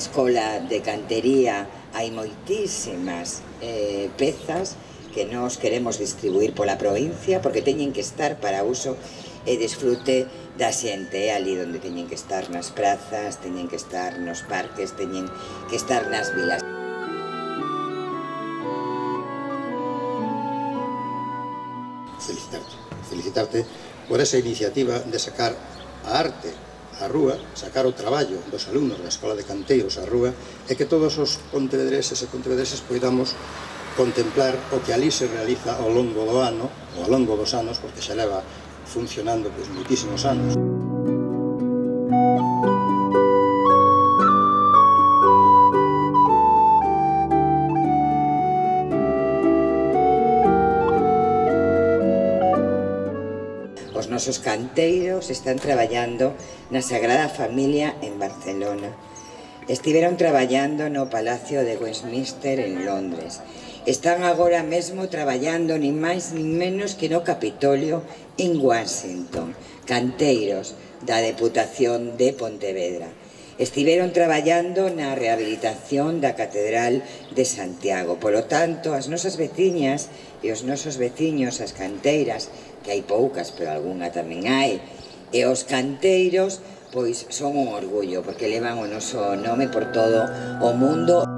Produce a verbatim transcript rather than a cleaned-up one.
escola de cantería hai moitísimas eh, pezas que nos queremos distribuir pola provincia porque teñen que estar para uso e disfrute da xente, é ali onde teñen que estar, nas prazas, teñen que estar nos parques, teñen que estar nas vilas. Felicitarte, felicitarte por esa iniciativa de sacar a arte á rúa, sacar o traballo dos alumnos da Escola de Canteiros á rúa e que todos os pontevedreses e pontevedreses poidamos contemplar o que ali se realiza ao longo do ano, ou ao longo dos anos, porque xa leva funcionando pois, moitísimos anos. Os nosos canteiros están traballando na Sagrada Familia en Barcelona. Estiveron traballando no Palacio de Westminster en Londres. Están agora mesmo traballando nin máis nin menos que no Capitolio en Washington. Canteiros da Deputación de Pontevedra. Estiveron traballando na rehabilitación da Catedral de Santiago. Polo tanto, as nosas veciñas e os nosos veciños, as canteiras, que hai poucas, pero algunha tamén hai, e os canteiros, pois son un orgullo, porque levan o noso nome por todo o mundo.